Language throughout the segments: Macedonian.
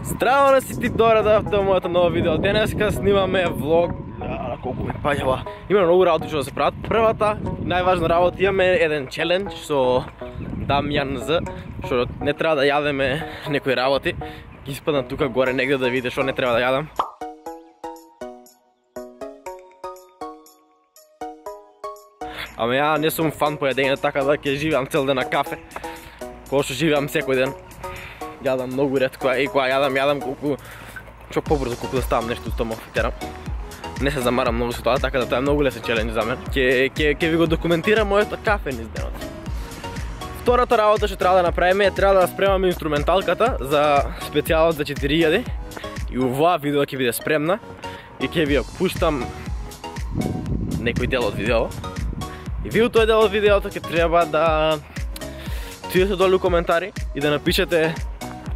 Здраво на си ти добре да в моето ново видео. Денеска снимаме влог. Колку ме паѓава. Има многу работи што да се прават. Првата најважна работа, имаме еден челендж со Дамјан З, што не треба да јадеме некои работи. Ги испадам тука горе негде да видите што не треба да јадам. Ама ја не сум фан по јадење, така да ќе живеам цел ден на кафе. Кога што живеам секој ден. Јадам многу ретко и кога јадам колку што побрзо колку да ставам нешто стомак терам. Не се замарам многу со тоа, така да тоа е многу лесен челендж за мен. Ќе ви го документирам моето кафе низ денот. Втората работа што треба да направиме е треба да спремаме инструменталката за специјалот за 4000 и оваа видео ќе биде спремна и ќе ви ја пуштам некој дел од видео. И ви у тој дел од видеото ќе треба да отидете долу коментари и да напишете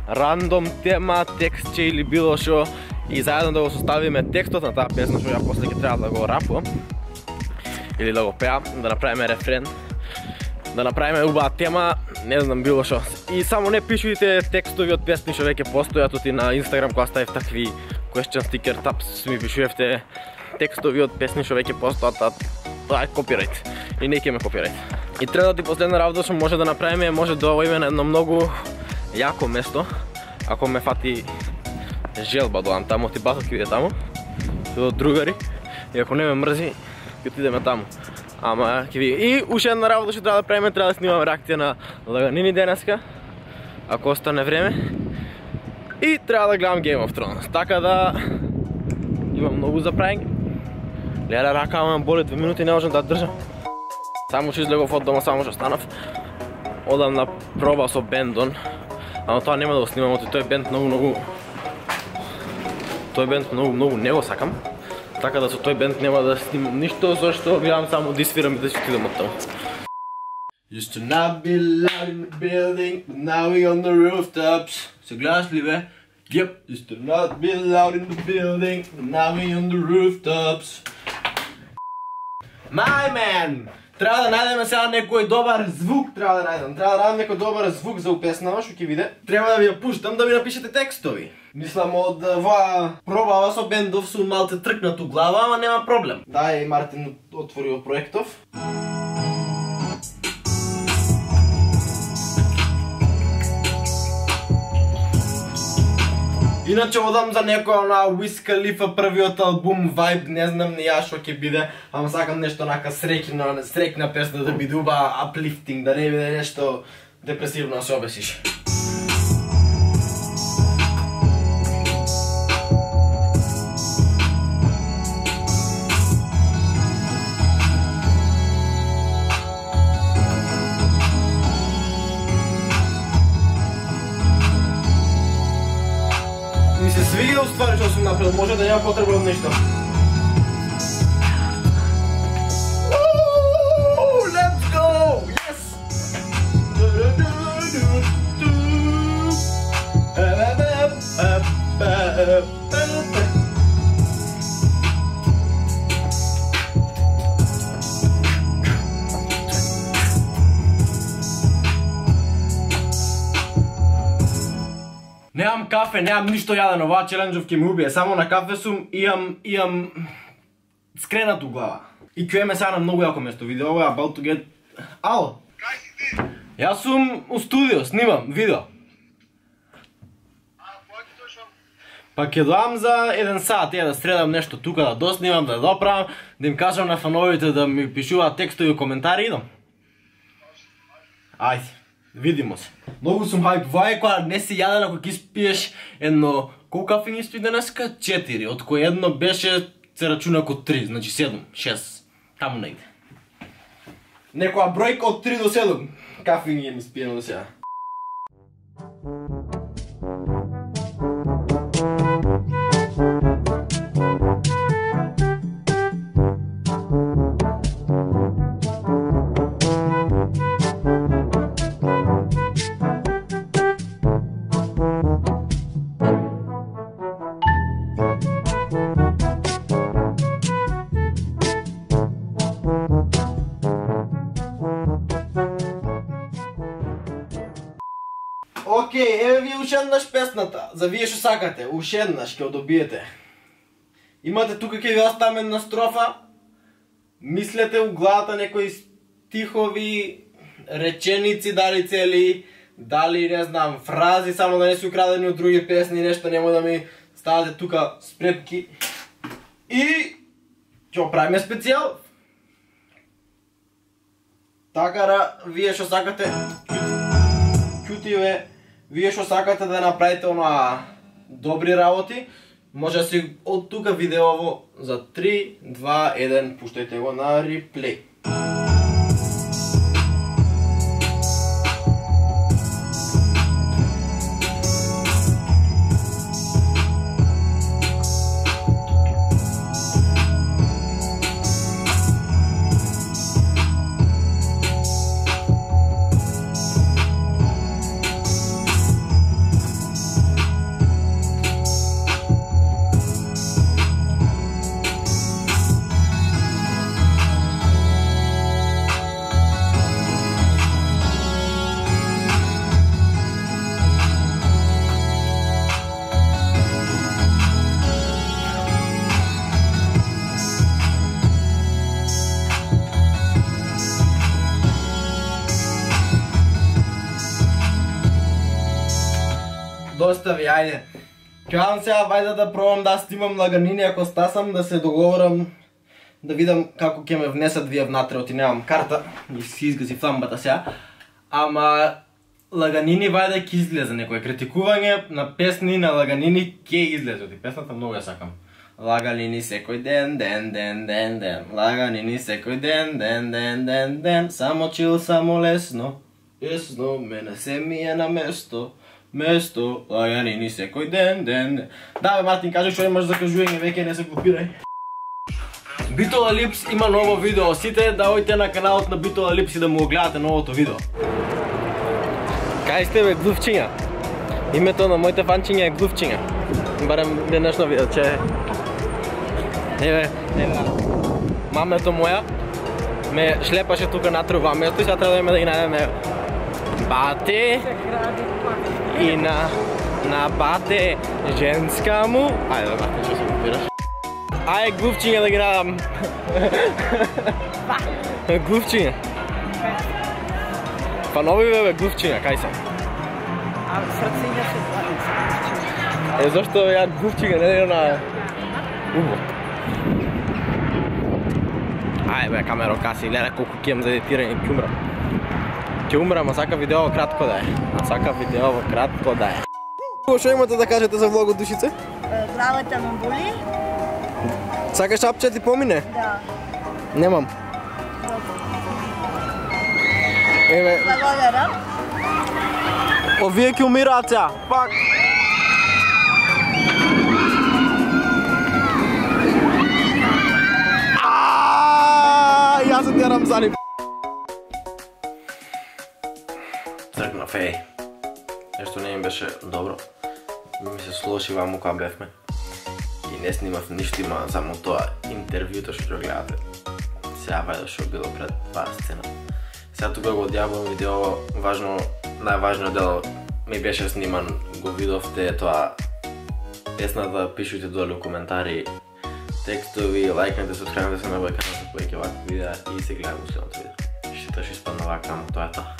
рандом тема, текстче или било што и заедно да го составиме текстот на таа песна што ја после ќе треба да го рапувам или да го пеам, да направиме рефрен, да направиме убава тема, не знам било што. И само не пишувате текстови од песни што веќе постојат оти на Инстаграм кога ставив такви question sticker tabs, ми пишувате текстови од песни што веќе постојат, тоа е копирајт и не ќе ме копирајт. И третата и последна работа што може да направиме може да одиме на едно многу јако место, ако ме фати желба доам таму, ти батот ќе биде таму, со другари, и ако не ме мрзи, ќе отидеме таму. Ама ќе види. И уште една работа што треба да правиме, треба да снимаме реакција на лаганини денеска, ако остане време. И треба да гледам Game of Thrones, така да имам многу за правење. Леле, рака ме боли 2 минути, не можам да држам. Само што излегов од дома, само што станав. Одам на проба со бендон, ама тоа нема да го снимам, тој бенд многу не го сакам. Така да со тој бенд нема да снимам ништо, зашто гледам само да свирам и да ќе отидам од таму. Used to not be loud in the building, but now we on the rooftops. Се гледаш ли бе? Yep. Used to not be loud in the building, but now we on the rooftops. My man! Треба да најдеме сега некој добар звук, треба да најдам некој добар звук за песнава што ќе биде. Треба да ви ја пуштам да ми напишете текстови. Мислам од оваа пробава со бендов сум малце тркнат у глава, ама нема проблем. Дај Мартин отворио проектов. Иначе одам за некоја на Wiz Khalifa првиот албум Vibe, не знам ни ја што ќе биде, ама сакам нешто нака срекна песна да биде убава uplifting, да не биде нешто депресивно да се обесиш. Ми се свиѓа уствари што сум направил, може да нема потреба од нешто. Let's go! Yes! Немам кафе, немам ништо јадено, оваа челенџов ќе ме убие, само на кафе сум и имам скренат у глава. И ќе еме сега на многу јако место, видео ова е about to get... Ало? Кај си ти? Јас сум у студио, снимам видео. Кога ќе дојшам? Па ќе доам за 1 сат, да средам нешто тука, да доснимам, да доправам, да им кажам на фановите да ми пишуваат текстови и коментари, идам. Ајде. Видимо се. Многу сум хајп, вај која не си јаден ако ќе испиеш едно... Колку кафе ни испи денеска? 4, од кој едно беше се рачуна како 3, значи 7, 6, таму негде. Некоја бројка од 3 до 7 кафе ни им испиено до сега. Океј, еве еднаш песната, за вие што сакате, уште еднаш ќе добиете. Имате тука ќе ви оставам една строфа, мислете у главата некои стихови, реченици, дали цели, дали не знам, фрази, само да не се украдени од други песни, нешто нема да ми ставате тука спретки. И ќе правиме специјал. Така, вие што сакате, кјутиве, вие што сакате да направите онаа добри работи, може да си од тука видеово за 3, 2, 1, пуштајте го на реплей. Доста ви, ајде. Кјавам сега, вајде да пробам да снимам лаганини, ако стасам да се договорам, да видам како ќе ме внесат вие внатре, оти немам карта, и си изгази фламбата сега. Ама лаганини вајде ќе излезе некој критикување на песни на лаганини ќе излезе, оти песната многу ја сакам. Лаганини секој ден, ден, лаганини секој ден, само чил, само лесно, мене се ми е на место, лаганини секој ден. Да бе, Мартин, кажи што имаш за кажување, веќе не се глупирај. Битола Липс има ново видео, сите да ојте на каналот на Битола Липс и да му гледате новото видео. Кај сте бе, глувчиња? Името на моите фанчиња е глувчиња. Барем денешно видео, че... Еве, мамето моја ме шлепаше тука натре во место и сега треба да име да ги најдеме бате и на бате женска му. Ајде, Мартин, што се глупираш? Ајде, глувчиња да ги најдам. Глувчиња. Па нови бе, глувчиња, кај се? А срциња се главица. Е, зашто ја глувчиња не е на убо? Ајде бе, камеро, каси, гледа колку ќе имам за едитирање, ќе умрам. Ќе умрам, а сака видеово кратко да е. Што имате да кажете за влогот, душице? Главата ме боли? Сакаш апче ти помине? Да. Немам. Еве, Благодарам. овие ќе умираат сега. Пак. Јас се терам за нив. Тргнав, еј. Нешто не им беше добро. Ми се слоши ваму кога бевме. И не снимав ништо, има само тоа интервјуто што ќе гледате. Сега вајде што било пред таа сцена. Сега тука го одјавувам видео, најважниот дел ми беше сниман, го видовте тоа песната, пишујте долу коментари, текстови, лајкнете, субскрајбнете се на мојот канал за повеќе вакви видеа и се гледаме во следното видео. Што испадна вака, тоа е тоа.